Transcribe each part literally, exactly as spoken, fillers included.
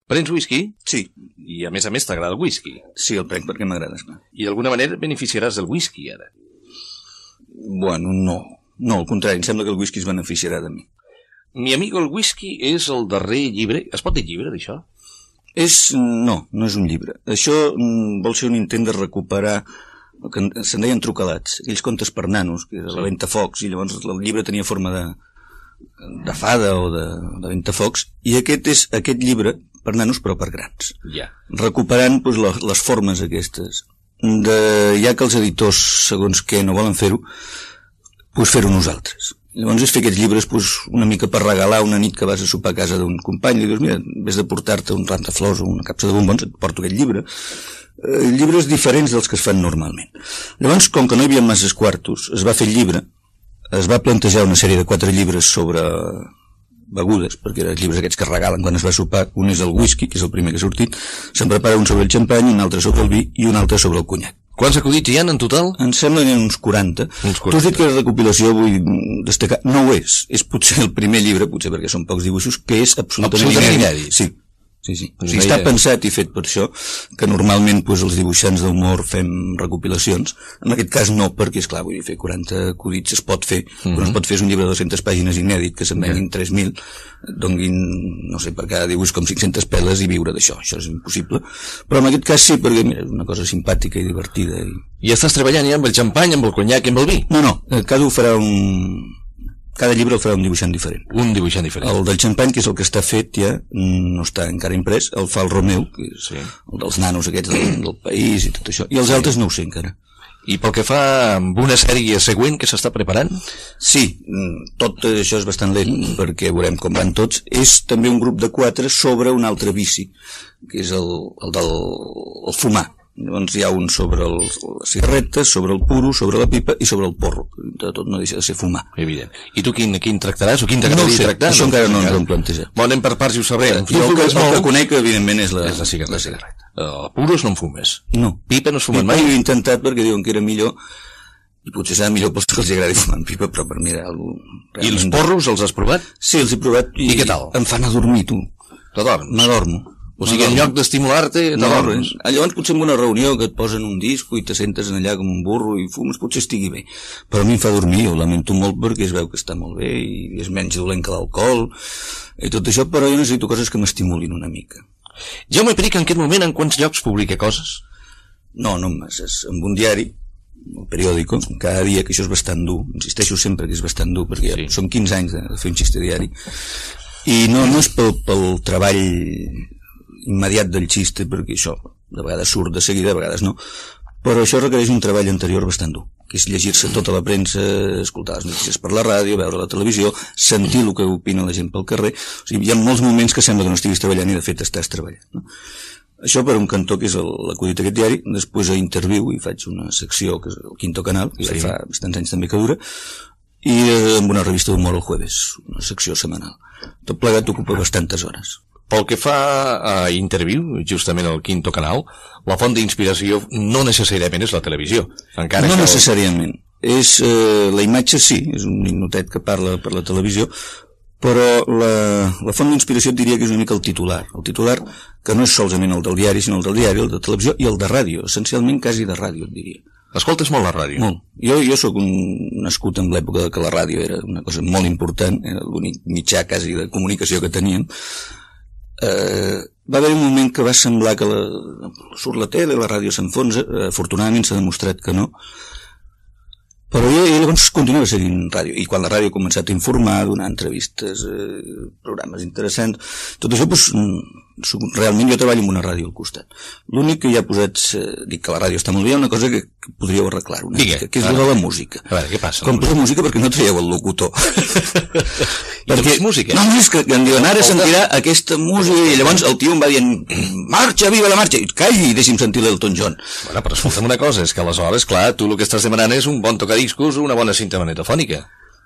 Prens whisky? Sí. I a més a més t'agrada el whisky? Sí, el prenc perquè m'agrada, esclar. I d'alguna manera et beneficiaràs del whisky, ara? Bueno, no. No, al contrari, em sembla que el whisky es beneficiarà de mi. Mi amigo el whisky és el darrer llibre... Es pot dir llibre, d'això? És... no, no és un llibre. Això mm, vol ser un intent de recuperar el que se'n deien trucalats, aquells contes per nanos, que era la Ventafocs, i llavors el llibre tenia forma de, de fada o de, de Ventafocs, i aquest és aquest llibre per nanos però per grans. Ja. Recuperant doncs, les, les formes aquestes. De, ja que els editors, segons què, no volen fer-ho, doncs fer-ho nosaltres. Llavors és fer aquests llibres doncs, una mica per regalar una nit que vas a sopar a casa d'un company, i dius, mira, en vez de portar-te un ram de flors o una capsa de bombons, et porto aquest llibre. Eh, llibres diferents dels que es fan normalment. Llavors, com que no hi havia masses quartos, es va fer el llibre, es va plantejar una sèrie de quatre llibres sobre begudes, perquè eren els llibres aquests que es regalen quan es va sopar. Un és el whisky, que és el primer que ha sortit, se'n prepara un sobre el xampany, un altre sobre el vi i un altre sobre el conyac. Quants acudits hi ha en total? Em sembla que hi ha uns quaranta. Uns quaranta. Tu has dit que la recopilació vull destacar, no ho és, és potser el primer llibre, potser perquè són pocs dibuixos, que és absolutament, absolutament inèdit. Sí. Sí, sí. O sigui, està pensat i fet per això, que normalment pues, els dibuixants d'humor fem recopilacions. En aquest cas no, perquè, esclar, vull dir, fer quaranta acudits es pot fer, mm-hmm. però no es pot fer un llibre de dues-centes pàgines inèdit, que se'n venguin tres mil, donguin, no sé, per cada dibuix com cinc-centes peles i viure d'això. Això és impossible. Però en aquest cas sí, perquè, mira, és una cosa simpàtica i divertida. I, I estàs treballant ja amb el xampany, amb el conyac i amb el vi? No, no, cada un farà un... Cada llibre el farà un dibuixant diferent. Un dibuixant diferent. El del xampany, que és el que està fet ja, no està encara imprès, el fa el Romeu, que és sí. el dels nanos aquests del, del país i tot això. I els sí. altres no ho sé encara. I pel que fa amb una sèrie següent que s'està preparant? Sí, tot això és bastant lent, perquè veurem com van tots. És també un grup de quatre sobre un altre vici, que és el, el del el fumar. Llavors hi ha un sobre el, les cigarretes, sobre el puro, sobre la pipa i sobre el porro. De tot no deixa de ser fumar. Evident. I tu quin, quin tractaràs o quin t'agradaria no sé, tractar? Això no? encara no ens ho hem plantejat. Bon, anem per parts i ho sabrem. Jo el, el, el que conec, evidentment, és la, és la cigarreta. La cigarreta. El puros no en fumes? No. Pipa no es fumen pipa mai? Jo he intentat perquè diuen que era millor, i potser serà millor pels que els agradi fumar en pipa, però per mi era algo... I els porros els has provat? Sí, els he provat. I, I què tal? Em fan adormir, tu. T'adorms? M'adormo. O sigui, en lloc d'estimular-te, t'adorms. No, llavors potser en una reunió que et posen un disco i te sentes allà com un burro i fumes, potser estigui bé. Però a mi em fa dormir, ho lamento molt perquè es veu que està molt bé i és menys dolent que l'alcohol i tot això, però jo necessito coses que m'estimulin una mica. Jaume Perich, en aquest moment, en quants llocs publica coses? No, no masses. En un diari, el periòdico, cada dia, que això és bastant dur, insisteixo sempre que és bastant dur, perquè sí. són quinze anys de fer un xiste diari, i no, no és pel, pel treball immediat del xiste, perquè això de vegades surt de seguida, de vegades no, però això requereix un treball anterior bastant dur, que és llegir-se tota la premsa, escoltar les notícies per la ràdio, veure la televisió, sentir el que opina la gent pel carrer. O sigui, hi ha molts moments que sembla que no estiguis treballant i de fet estàs treballant, no? Això per un cantó, que és l'acudit d'aquest diari. Després a Interviu hi faig una secció que és el Quinto Canal, que sí. ja fa bastants anys també que dura, i amb una revista d'humor el jueves, una secció setmanal. Tot plegat ocupa bastantes hores. Pel que fa a Interviu, justament al Quinto Canal, la font d'inspiració no necessàriament és la televisió. Encara no que... necessàriament. És, eh, la imatge sí, és un ninotet que parla per la televisió, però la, la font d'inspiració et diria que és una mica el titular. El titular que no és solament el del diari, sinó el del diari, el de televisió i el de ràdio. Essencialment quasi de ràdio, et diria. Escoltes molt la ràdio? Molt. Jo, jo sóc un nascut en l'època que la ràdio era una cosa molt important, era l'únic mitjà quasi de comunicació que teníem. Uh, va haver un moment que va semblar que la, surt la tele, la ràdio s'enfonsa, afortunadament s'ha demostrat que no, però jo, jo llavors continuava seguint ràdio, i quan la ràdio ha començat a informar, donar entrevistes, eh, programes interessants, tot això, doncs, realment jo treballo amb una ràdio al costat. L'únic que ja posats, eh, dic que la ràdio està molt bé, una cosa que, que podríeu arreglar una mica, que és la de la música. A veure, què passa? Com posa música perquè no traieu el locutor. Perquè música? No, no, és que em diuen, ara sentirà aquesta música, i llavors el tio em va dient, marxa, viva la marxa, i calli i deixi'm sentir l'Elton John. Bueno, però escolta'm una cosa, és que aleshores, clar, tu el que estàs demanant és un bon tocadiscos o una bona cinta magnetofònica.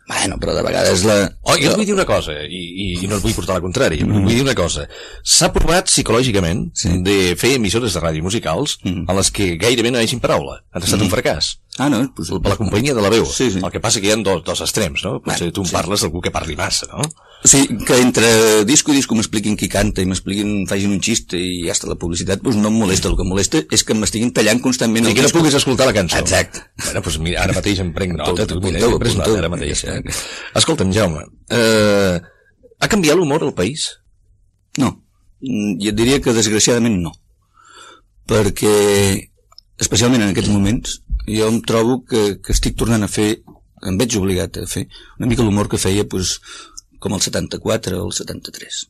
Bueno, però de vegades la... Oh, jo et vull dir una cosa, i, i, i no et vull portar la contrària, mm. vull dir una cosa. S'ha provat psicològicament sí. de fer emissores de ràdio musicals mm. en les que gairebé no hi hagin paraula. Ha estat mm. un fracàs. Ah, no? Pues... Per la companyia de la veu. Sí, sí. El que passa que hi ha dos, dos extrems, no? Potser bueno, tu em sí. parles d'algú que parli massa, no? Sí, que entre disco i disco m'expliquin qui canta i m'expliquin, facin un xiste i ja està la publicitat, doncs no em molesta. El que em molesta és que m'estiguin tallant constantment. I que no puguis escoltar la cançó. Exacte. Bueno, doncs mira, ara mateix em prenc nota, tu, mira, he pres nota ara mateix. Eh? Escolta'm, Jaume, eh, ha canviat l'humor al país? No. Jo et diria que desgraciadament no. Perquè, especialment en aquests moments, jo em trobo que, que estic tornant a fer, em veig obligat a fer una mica l'humor que feia, doncs, com el setanta-quatre o el setanta-tres.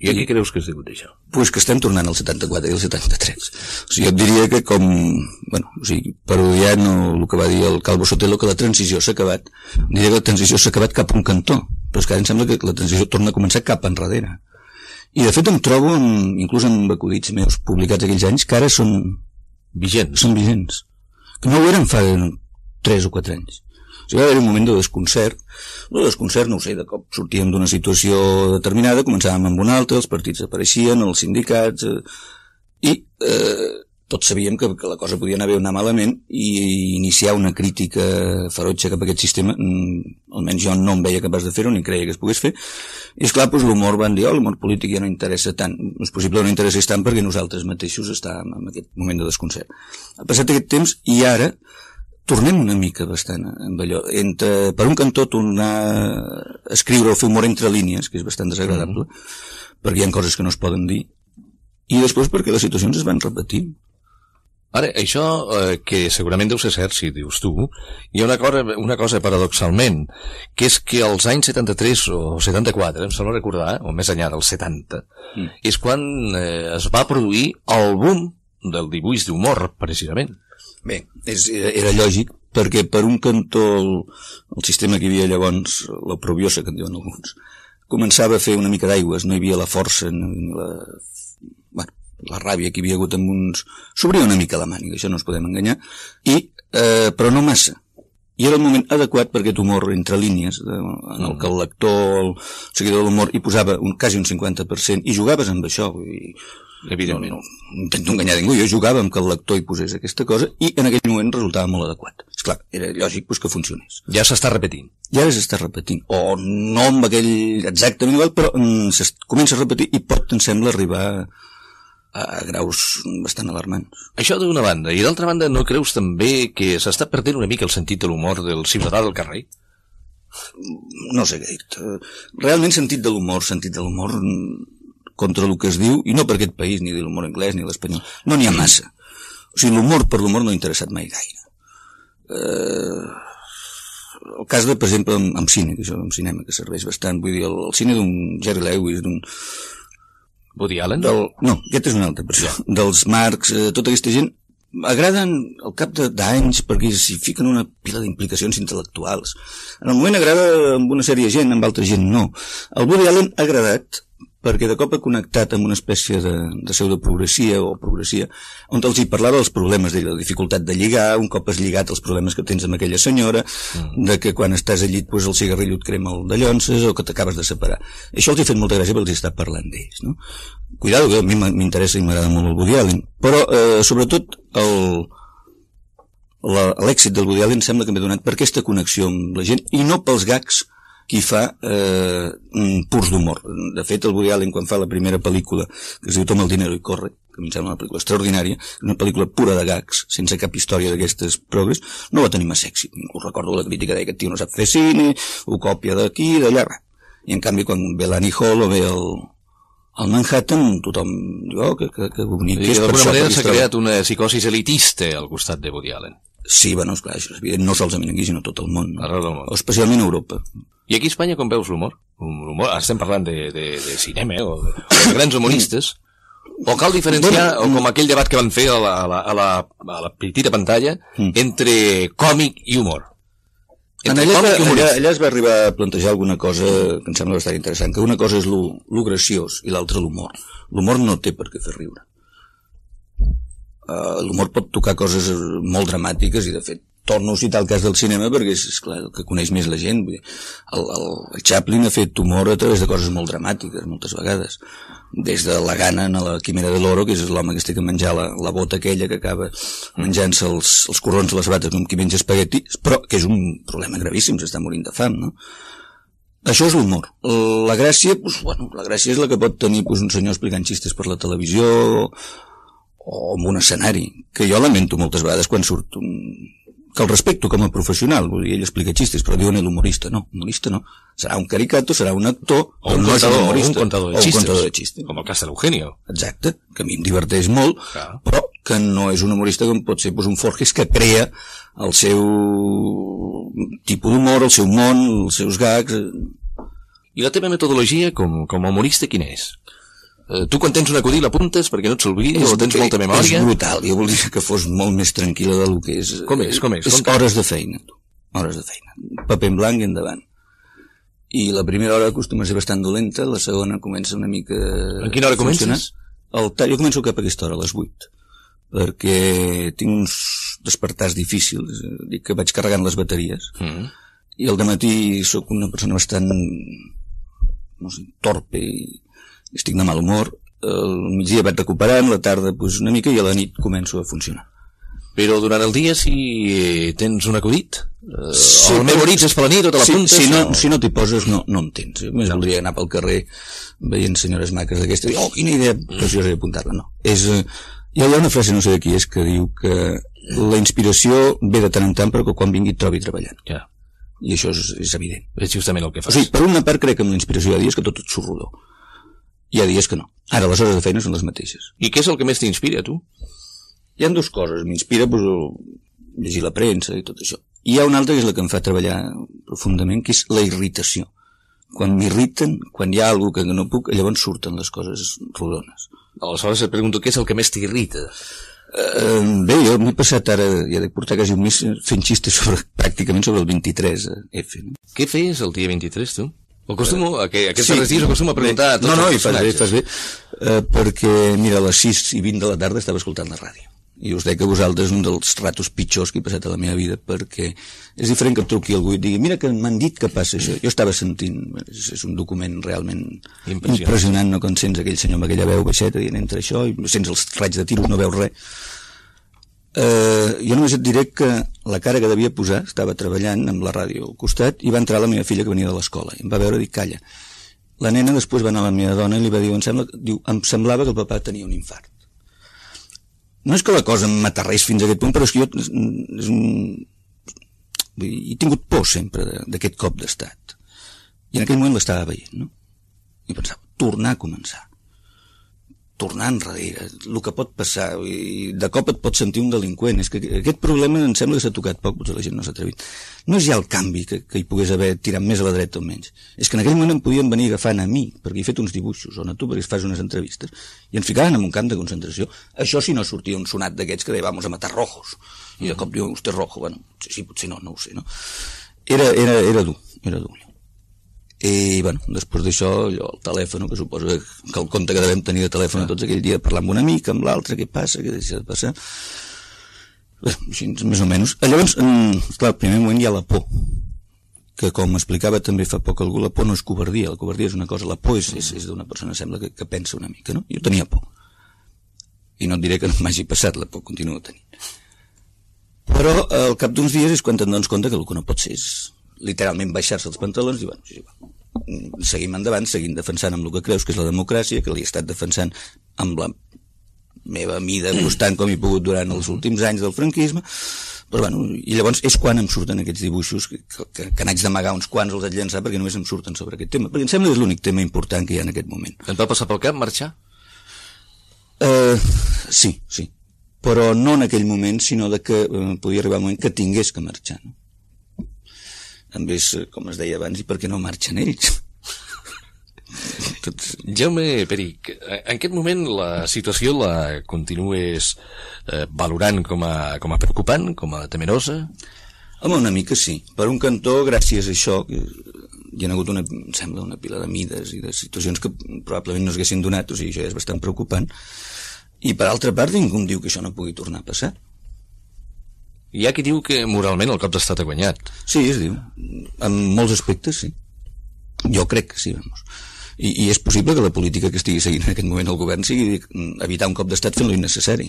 I a què creus que es diu d'això? Pues que estem tornant al setanta-quatre i al setanta-tres. O sigui, jo et diria que com, bueno, o sigui, parodiant el que va dir el Calvo Sotelo, que la transició s'ha acabat, diria que la transició s'ha acabat cap a un cantó, però és que ara em sembla que la transició torna a començar cap enrere. I de fet em trobo, en, inclús en acudits meus publicats aquells anys, que ara són vigents. Són vigents. Que no ho eren fa tres o quatre anys. O sigui, va haver un moment de desconcert. El desconcert, no ho sé, de cop sortíem d'una situació determinada, començàvem amb una altra, els partits apareixien, els sindicats, eh, i eh, tots sabíem que, que la cosa podia anar bé o anar malament, i iniciar una crítica ferotge cap a aquest sistema, mm, almenys jo no em veia capaç de fer-ho, ni creia que es pogués fer. I esclar, doncs l'humor van dir, oh, l'humor polític ja no interessa tant. És possible que no interessés tant perquè nosaltres mateixos estàvem en aquest moment de desconcert. Ha passat aquest temps i ara tornem una mica bastant amb allò. Entre, per un cantó, tornar a escriure o fer humor entre línies, que és bastant desagradable, mm. perquè hi ha coses que no es poden dir, i després perquè les situacions es van repetint. Ara, això, eh, que segurament deu ser cert, si dius tu, hi ha una cosa, una cosa paradoxalment, que és que als anys setanta-tres o setanta-quatre, em sembla recordar, o més enllà dels setanta, mm. és quan eh, es va produir el boom del dibuix d'humor, precisament. Bé, és, era lògic, perquè per un cantó el, el sistema que hi havia llavors, la probiosa que en diuen alguns, començava a fer una mica d'aigües, no hi havia la força ni la, bueno, la ràbia que hi havia hagut amb uns... S'obria una mica la màniga, això no ens podem enganyar, i, eh, però no massa. I era el moment adequat per aquest humor entre línies, de, en el que el lector, el seguidor de l'humor, hi posava un, quasi un cinquanta per cent, i jugaves amb això, i... Evidentment. No, no intento enganyar ningú, jo jugava amb que el lector hi posés aquesta cosa i en aquell moment resultava molt adequat. Esclar, era lògic pues, que funcionés. Ja s'està repetint. Ja s'està repetint. O no amb aquell exactament igual, però mm, comença a repetir i pot, em sembla, arribar a, a graus bastant alarmants. Això d'una banda. I d'altra banda, no creus també que s'està perdent una mica el sentit de l'humor del ciutadà del carrer? No sé què dir. Realment sentit de l'humor, sentit de l'humor... contra el que es diu, i no per aquest país, ni de l'humor anglès, ni l'espanyol, no n'hi ha massa. O sigui, l'humor per l'humor no ha interessat mai gaire. Eh, el cas de, per exemple, amb, amb cine, que això, amb cinema, que serveix bastant, vull dir, el, el cine d'un Jerry Lewis, d'un... Woody Allen? Del, no, aquest és un altre, per això. Dels Marx, eh, tota aquesta gent, agraden al cap d'anys perquè s'hi fiquen una pila d'implicacions intel·lectuals. En el moment agrada amb una sèrie de gent, amb altra gent no. El Woody Allen ha agradat perquè de cop ha connectat amb una espècie de, de pseudoprogressia o progressia, on els hi parlava dels problemes de la dificultat de lligar, un cop has lligat els problemes que tens amb aquella senyora, mm. de que quan estàs al llit pues, el cigarrillo et crema el de llonces o que t'acabes de separar. Això els ha fet molta gràcia perquè els hi està parlant d'ells, no? Cuidado, que a mi m'interessa i m'agrada molt el Woody Allen, però eh, sobretot el, la, l'èxit del Woody Allen sembla que m'ha donat per aquesta connexió amb la gent i no pels gags qui fa eh, purs d'humor. De fet, el Woody Allen, quan fa la primera pel·lícula, que es diu Toma el dinero i corre, que em sembla una pel·lícula extraordinària, una pel·lícula pura de gags, sense cap història d'aquestes progres, no va tenir massa èxit. Ho recordo, la crítica deia que aquest tio no sap fer cine, ho còpia d'aquí i d'allà. I en canvi, quan ve l'Annie Hall o ve el, el Manhattan, tothom diu, oh, que, que, que bonic. I d'alguna manera s'ha creat una psicosis elitista al costat de Woody Allen. Sí, bueno, esclar, això és evident, no solament aquí, sinó tot el món. Arreu del món. O especialment a Europa. I aquí a Espanya com veus l'humor? L'humor, estem parlant de, de, de cinema, eh? o, de, o de grans humoristes. O cal diferenciar, bueno, o com aquell debat que van fer a la, a la, a la, a la petita pantalla, mm. entre còmic i humor. Entre allà, còmic i allà, allà es va arribar a plantejar alguna cosa que em sembla bastant interessant, que una cosa és lo, lo graciós i l'altra l'humor. L'humor no té per què fer riure. Uh, l'humor pot tocar coses molt dramàtiques i de fet torno a citar el cas del cinema perquè és, és clar, el que coneix més la gent. El, el, el Chaplin ha fet humor a través de coses molt dramàtiques moltes vegades, des de la gana a la Quimera de l'Oro, que és l'home que es té que menjar la, la bota aquella que acaba menjant-se els, els corrons de les bates com qui menja espagueti, però que és un problema gravíssim, s'està morint de fam, no? Això és l'humor. La gràcia, doncs, bueno, la gràcia és la que pot tenir doncs, un senyor explicant xistes per la televisió o en un escenari, que jo lamento moltes vegades quan surt un... que el respecto com a professional, vull dir, ell explica xistes, però diuen l'humorista, no, humorista no. Serà un caricato, serà un actor, o un, no contador, un, un contador de xistes. xistes. Un contador de xistes. Com el cas de l'Eugenio. Exacte, que a mi em diverteix molt, clar, però que no és un humorista com pot ser doncs, un Forges que crea el seu tipus d'humor, el seu món, els seus gags. I la teva metodologia com, com a humorista quina és? Eh, tu quan tens un acudit l'apuntes perquè no et s'olvidi o tens molta memòria? És brutal, jo voldria que fos molt més tranquil·la del que és. Com és? Com és? És hores de feina, tu. Hores de feina. Paper en blanc i endavant. I la primera hora acostuma a ser bastant dolenta, la segona comença una mica... En quina hora comences? El, jo començo cap a aquesta hora, a les vuit, perquè tinc uns despertars difícils, dic que vaig carregant les bateries, mm. i al dematí sóc una persona bastant, no sé, torpe i estic de mal humor, al migdia vaig recuperant, la tarda pues, una mica, i a la nit començo a funcionar. Però durant el dia si tens un acudit? Eh, sí, el memoritzes per la nit o te l'apuntes? Si, si no, o... si no t'hi poses no, no en tens. Jo més voldria anar pel carrer veient senyores maques d'aquesta i dir, oh, quina idea preciosa d'apuntar-la. No. És, eh, hi ha una frase, no sé de qui és, que diu que la inspiració ve de tant en tant però que quan vingui et trobi treballant. Ja. I això és, és evident. És justament el que fas. O sigui, per una part crec que amb la inspiració hi ha dies que tot et surt rodó. Hi ha dies que no. Ara les hores de feina són les mateixes. I què és el que més t'inspira, tu? Hi ha dues coses. M'inspira pues, llegir la premsa i tot això. I hi ha una altra que és la que em fa treballar profundament, que és la irritació. Quan m'irriten, quan hi ha alguna que no puc, llavors surten les coses rodones. Aleshores et pregunto què és el que més t'irrita. Uh, bé, jo m'he passat ara, ja de portar quasi un mes fent xistes sobre, pràcticament sobre el vint-i-tres F. No? Què feies el dia vint-i-tres, tu? Acostumo, a que aquests darrers dies acostumo a preguntar a tots no, no, els personatges. No, no, fas bé, fas bé, uh, perquè, mira, a les sis i vint de la tarda estava escoltant la ràdio. I us dec a vosaltres un dels ratos pitjors que he passat a la meva vida, perquè és diferent que et truqui algú i et digui, mira que m'han dit que passa això. Jo estava sentint, és, és un document realment impressionant, impressionant no? Quan sents aquell senyor amb aquella veu baixeta dient entre això, i sents els raigs de tiros, no veus res. Uh, jo només et diré que la cara que devia posar, estava treballant amb la ràdio al costat i va entrar la meva filla que venia de l'escola i em va veure i dir, calla. La nena després va anar a la meva dona i li va dir, em, sembla, diu, em semblava que el papà tenia un infart. No és que la cosa m'aterrés fins a aquest punt, però és que jo és un... he tingut por sempre d'aquest cop d'estat i en aquell moment l'estava veient, no? I pensava, tornar a començar, tornar enrere, el que pot passar, i de cop et pots sentir un delinqüent. És que aquest problema em sembla que s'ha tocat poc, potser la gent no s'ha atrevit. No és ja el canvi que, que hi pogués haver tirat més a la dreta o menys, és que en aquell moment em podien venir agafant a mi, perquè he fet uns dibuixos, o a tu perquè fas unes entrevistes, i ens ficaven en un camp de concentració. Això si no sortia un sonat d'aquests que deia, vamos a matar rojos, i de cop diu, usted rojo, bueno, sí, sí, potser no, no ho sé, no? Era, era, era dur, era dur. I, bueno, després d'això, allò, el telèfon, que suposo que el compte que devem tenir de telèfon tots aquell dia, parlar amb un amic, amb l'altre, què passa, què deixa de passar... Bé, així, més o menys. Llavors, clar, al primer moment hi ha la por, que com explicava també fa poc algú, la por no és covardia, la covardia és una cosa, la por és, és, és d'una persona, sembla, que, que pensa una mica, no? Jo tenia por. I no et diré que no m'hagi passat, la por continuo tenint. Però al cap d'uns dies és quan te'n dones compte que el que no pot ser és literalment baixar-se els pantalons i, bueno, sí, sí, seguim endavant, seguim defensant amb el que creus que és la democràcia, que l'he estat defensant amb la meva mida constant com he pogut durant els últims anys del franquisme, però bueno, i llavors és quan em surten aquests dibuixos que, que, que n'haig d'amagar uns quants, els haig de llançar perquè només em surten sobre aquest tema, perquè em sembla que és l'únic tema important que hi ha en aquest moment. Et va passar pel cap marxar? Uh, sí, sí, però no en aquell moment, sinó de que uh, podia arribar un moment que tingués que marxar, no? També és, com es deia abans, i per què no marxen ells? Tots... Jaume Perich, en aquest moment la situació la continues eh, valorant com a, com a preocupant, com a temerosa? Home, una mica sí. Per un cantó, gràcies a això, hi ha hagut una, em sembla, una pila de mides i de situacions que probablement no s'haguessin donat, o sigui, això ja és bastant preocupant. I per altra part, ningú em diu que això no pugui tornar a passar. Hi ha qui diu que moralment el cop d'estat ha guanyat. Sí, es diu. En molts aspectes, sí. Jo crec que sí, vamos. I, i és possible que la política que estigui seguint en aquest moment el govern sigui evitar un cop d'estat fent-lo innecessari.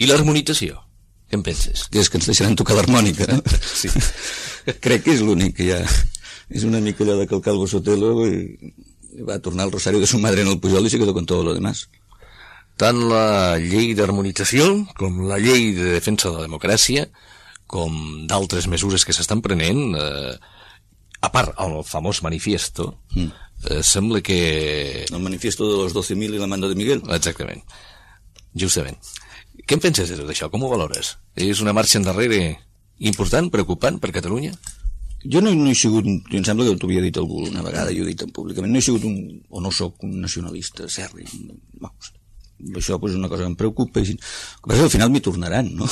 I l'harmonització? Què en penses? Que és que ens deixaran tocar l'harmònica, no? Sí. Crec que és l'únic que hi ha. És una mica allò de que el Calvo Sotelo i va tornar al rosario de su madre en el Pujol i se quedó con todo lo demás. Tant la llei d'harmonització com la llei de defensa de la democràcia com d'altres mesures que s'estan prenent, eh, a part el famós manifiesto, mm. eh, sembla que... El manifiesto de los doce mil i la manda de Miguel. Exactament, justament. Què en penses de tot això? Com ho valores? És una marxa endarrere important, preocupant per Catalunya? Jo no, no he sigut, jo em sembla que t'ho havia dit algú una vegada i ho he dit públicament, no he sigut un, o no sóc un nacionalista serri, vamos, això pues, és una cosa que em preocupa, i, que al final m'hi tornaran, no?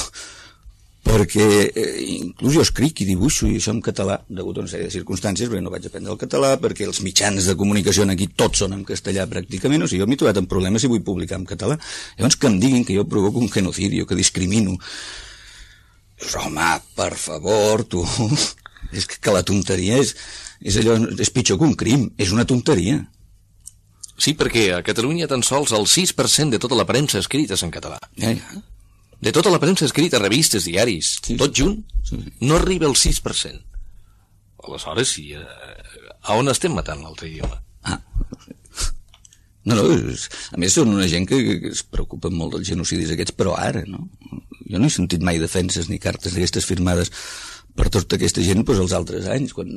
Perquè eh, inclús jo escric i dibuixo i això en català, degut a una sèrie de circumstàncies, perquè no vaig aprendre el català, perquè els mitjans de comunicació aquí tots són en castellà pràcticament, o sigui, jo m'he trobat en problemes si vull publicar en català. Llavors que em diguin que jo provoco un genocidio, que discrimino. Home, per favor, tu... És que, que la tonteria és, és allò, és pitjor que un crim, és una tonteria. Sí, perquè a Catalunya tan sols el sis per cent de tota la premsa escrita és en català. Ja, ja. De tota la premsa escrita, revistes, diaris, sí, tot junt, sí. No arriba al sis per cent. Aleshores, sí, eh, a on estem matant l'altre idioma? Ah, no sé. No, no, és, a més són una gent que, que es preocupa molt dels genocidis aquests, però ara, no? Jo no he sentit mai defenses ni cartes d'aquestes firmades per tota aquesta gent doncs, els altres anys, quan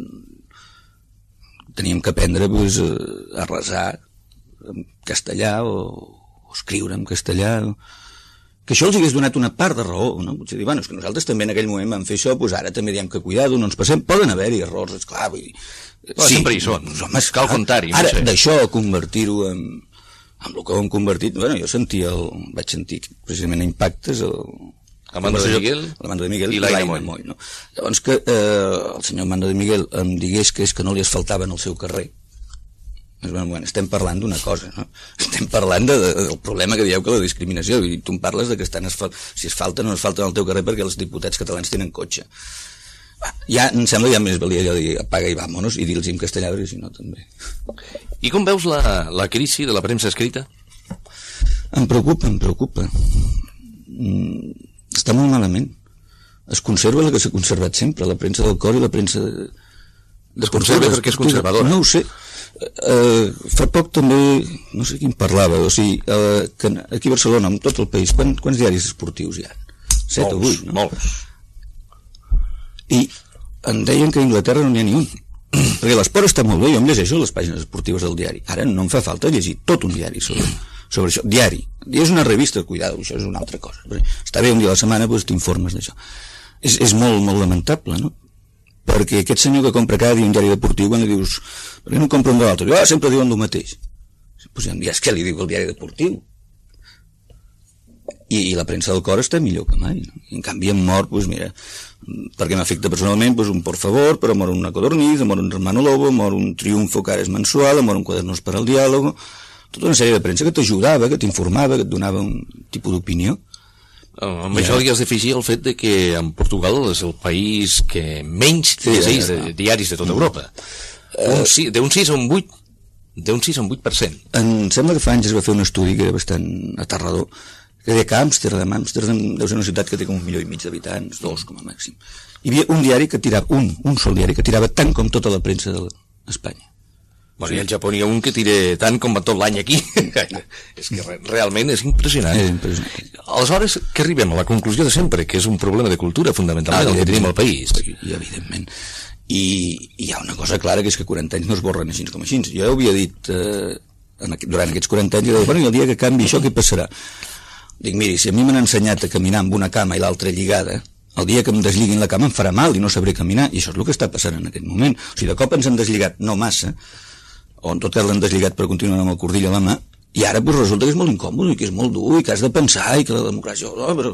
teníem que aprendre doncs, a resar en castellà o, o escriure en castellà, que això els hagués donat una part de raó, no? Potser dir, bueno, és que nosaltres també en aquell moment vam fer això, doncs ara també diem que cuidado, no ens passem, poden haver-hi errors, esclar, vull dir... Però sí, sempre hi són, doncs, home, cal contar-hi. Ara, no sé. D'això, convertir-ho en, en el que ho hem convertit, bueno, jo sentia el, vaig sentir precisament a Impactes el, el Mando de Miguel, el Mando de Miguel i l'Aina Moll. Moll, no? Llavors que eh, el senyor Mando de Miguel em digués que és que no li asfaltaven el seu carrer. Bueno, bueno, estem parlant d'una cosa, no? Estem parlant de, de, del problema que dieu que la discriminació, i tu em parles de que estan asfal... si es falta o no es falta al teu carrer perquè els diputats catalans tenen cotxe. Ja, em sembla ja més valia allò de dir apaga i vámonos i dir-los en castellà, perquè si no també. I com veus la, la crisi de la premsa escrita? Em preocupa, em preocupa. Mm, està molt malament. Es conserva la que s'ha conservat sempre, la premsa del cor i la premsa... De... Es conserva perquè és conservadora. No ho sé. Uh, fa poc també, no sé qui em parlava, o sigui, uh, que aquí a Barcelona, en tot el país, quant, quants diaris esportius hi ha? Set o vuit, no? Molts. I em deien que a Anglaterra no n'hi ha ni un. Perquè l'esport està molt bé, jo em llegeixo les pàgines esportives del diari. Ara no em fa falta llegir tot un diari sobre, sobre això. Diari. I és una revista, cuidado, això és una altra cosa. Està bé un dia a la setmana, doncs t'informes d'això. És, és molt, molt lamentable, no? Perquè aquest senyor que compra cada dia un diari deportiu, quan li dius, per què no compra un de l'altre? Ah, sempre diuen el mateix. Pues ja és que li diu el diari deportiu. I, i la premsa del cor està millor que mai, no? I en canvi em mor, doncs mira, perquè m'afecta personalment, doncs un por favor, però mor una codorniz, mor un hermano lobo, mor un triunfo que ara és mensual, mor un quadernos per al diàlogo, tota una sèrie de premsa que t'ajudava, que t'informava, que et donava un tipus d'opinió. Oh, amb ja. Això li has d'afegir el fet de que en Portugal és el país que menys sí, llegeix de diaris de tota Europa. Uh, un, d'un sis a un vuit d'un sis a un vuit per cent. Em sembla que fa anys es va fer un estudi que era bastant aterrador, que deia que Amsterdam, Amsterdam deu ser una ciutat que té com un milió i mig d'habitants, dos com a màxim. Hi havia un diari que tirava, un, un sol diari que tirava tant com tota la premsa d'Espanya. Bueno, sí. I al Japó hi ha un que tira tant com va tot l'any aquí. És que re, realment és impressionant. És impressionant. Aleshores, que arribem a la conclusió de sempre, que és un problema de cultura, fundamentalment, ah, el que tenim al país. I, evidentment. I hi ha una cosa clara, que és que quaranta anys no es borren així com així. Jo havia dit, eh, en aquest, durant aquests quaranta anys, jo deia, bueno, i el dia que canvi això, què passarà? Dic, miri, si a mi m'han ensenyat a caminar amb una cama i l'altra lligada, el dia que em desliguin la cama em farà mal i no sabré caminar, i això és el que està passant en aquest moment. O sigui, de cop ens han deslligat, no massa, o en tot cas l'han deslligat per continuar amb el cordill a la mà, i ara pues, resulta que és molt incòmode i que és molt dur i que has de pensar i que la democràcia... Oh, però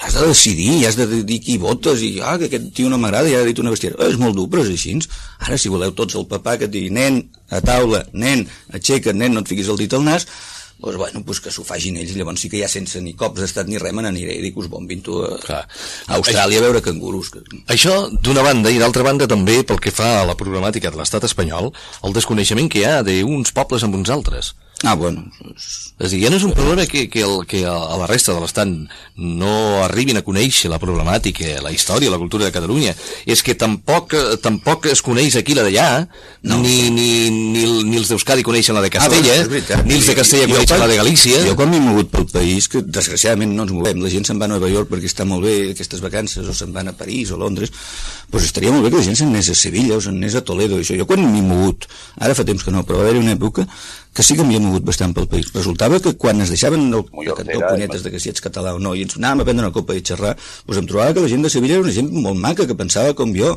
has de decidir i has de dir qui votes i ah, que aquest tio no m'agrada i ara ha dit una bestiera. Oh, és molt dur, però és així. Ara, si voleu tots el papà que et digui nen, a taula, nen, aixeca't, nen, no et fiquis el dit al nas, doncs, bueno, pues que s'ho facin ells, llavors sí que ja sense ni cops d'estat ni res me n'aniré i dic, us bombin tu a, a Austràlia a veure cangurus. Que... Això d'una banda, i d'altra banda també pel que fa a la problemàtica de l'estat espanyol, el desconeixement que hi ha d'uns pobles amb uns altres. Ah, bueno. És a dir, ja no és un problema que, que, el, que a la resta de l'estat no arribin a conèixer la problemàtica, la història, la cultura de Catalunya. És que tampoc, tampoc es coneix aquí la d'allà, no. ni, ni, ni, ni els d'Euskadi coneixen la de Castella, ah, ni els de Castella jo, coneixen jo, la de Galícia. Jo quan m'he mogut pel país, que desgraciadament no ens movem, la gent se'n va a Nova York perquè està molt bé aquestes vacances, o se'n van a París o Londres, doncs estaria molt bé que la gent se'n anés a Sevilla o se'n anés a Toledo, això. Jo quan m'he mogut, ara fa temps que no, però va haver-hi una època que sí que m'hi he mogut bastant pel país. Resultava que quan es deixaven el, el cantó punyetes de que si ets català o no i ens anàvem a prendre una copa i xerrar, doncs em trobava que la gent de Sevilla era una gent molt maca, que pensava com jo,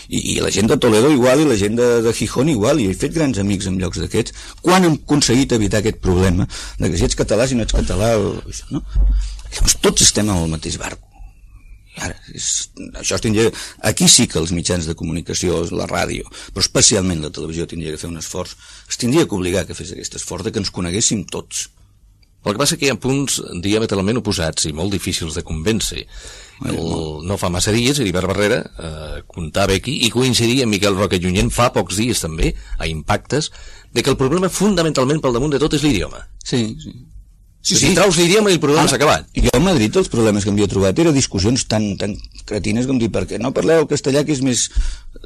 i, i la gent de Toledo igual, i la gent de, de Gijón igual, i he fet grans amics en llocs d'aquests. Quan hem aconseguit evitar aquest problema de que si ets català, si no ets català, o, això, no? Llavors, tots estem al mateix barco. Ara, és, això es tindria, aquí sí que els mitjans de comunicació, la ràdio, però especialment la televisió tindria que fer un esforç, es tindria que obligar que fes aquest esforç de que ens coneguéssim tots. El que passa que hi ha punts diametralment oposats i molt difícils de convèncer. El, no fa massa dies, Heribert Barrera eh, comptava aquí i coincidia amb Miquel Roca Junyent fa pocs dies també, a Impactes, de que el problema fonamentalment pel damunt de tot és l'idioma. Sí, sí. Sí, sí. Si traus l'idioma i el problema ah, s'ha acabat. Jo a Madrid els problemes que m'havia trobat eren discussions tan, tan cretines com dir, per què no parleu el castellà, que és més...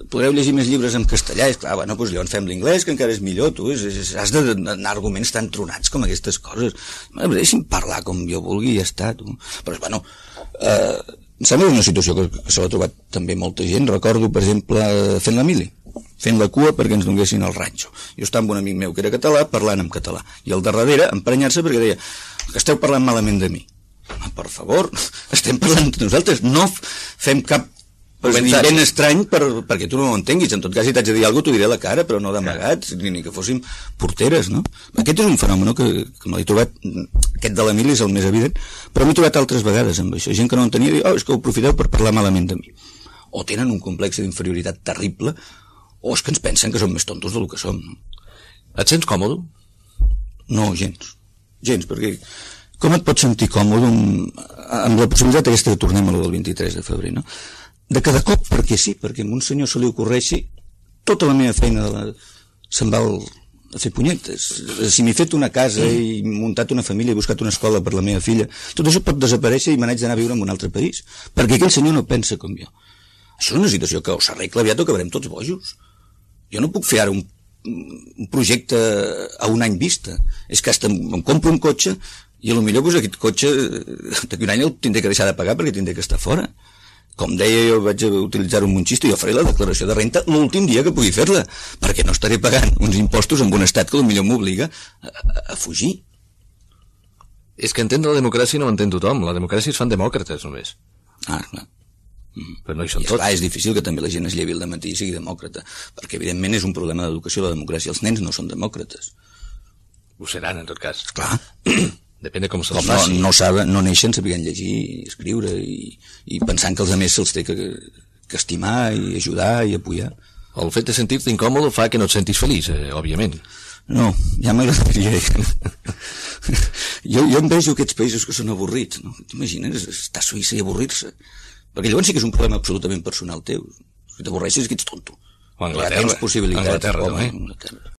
podreu llegir més llibres en castellà? És clar, bueno, doncs llavors fem l'inglès, que encara és millor, tu, és, és, has d'anar arguments tan tronats com aquestes coses. Deixi'm parlar com jo vulgui i ja està, tu. Però, bueno, eh, em sembla una situació que, que se l'ha trobat també molta gent. Recordo, per exemple, fent la mili, fent la cua perquè ens donguessin el ranxo. Jo estava amb un amic meu que era català, parlant en català, i al darrere emprenyar-se perquè deia que esteu parlant malament de mi. Home, per favor, estem parlant de nosaltres, no fem cap ben estrany per, perquè tu no ho entenguis. En tot cas, si t'haig de dir alguna cosa, t'ho diré a la cara, però no d'amagats, ni, ni que fóssim porteres, no? Aquest és un fenomen que, que m'he trobat, aquest de la mili és el més evident, però m'he trobat altres vegades amb això. Gent que no entenia, diu, oh, és que ho aprofiteu per parlar malament de mi. O tenen un complex d'inferioritat terrible, o és que ens pensen que som més tontos del que som. No? Et sents còmode? No, gens. Gens, perquè com et pots sentir còmode amb, amb la possibilitat aquesta que tornem a lo del vint-i-tres de febrer, no? De cada cop, perquè sí, perquè a un senyor se li ocorreixi, tota la meva feina de la... se'n va el... a fer punyetes. Si m'he fet una casa i muntat una família i buscat una escola per la meva filla, tot això pot desaparèixer i me n'haig d'anar a viure en un altre país, perquè aquell senyor no pensa com jo. Això és una situació que o s'arregla aviat o acabarem tots bojos. Jo no puc fer ara un, un projecte a un any vista. És que hasta em compro un cotxe i potser pues, aquest cotxe d'aquí un any el tindré que deixar de pagar perquè tindré que estar fora. Com deia, jo vaig utilitzar un xiste, jo faré la declaració de renta l'últim dia que pugui fer-la, perquè no estaré pagant uns impostos en un estat que potser m'obliga a, a, a fugir. És que entendre la democràcia no entén tothom. La democràcia es fan demòcrates només. Ah, clar. Mm. Però no hi són I tots. Esclar, és difícil que també la gent es llevi al dematí i sigui demòcrata, perquè evidentment és un problema d'educació la democràcia. Els nens no són demòcrates. Ho seran, en tot cas. Clar. Depèn de com se'ls com faci. No, no, saben, no neixen sabent llegir i escriure i, i pensant que els altres se'ls té que, que estimar i ajudar i apoyar. El fet de sentir-te incòmode fa que no et sentis feliç, eh, òbviament. No, ja m'agradaria. jo, jo em vejo aquests països que són avorrits, no? T'imagines estar a Suïssa i avorrir-se? Perquè llavors sí que és un problema absolutament personal teu. Si t'avorreixes, que ets tonto. O Anglaterra. Ja tens possibilitats. Anglaterra, home, també. Anglaterra.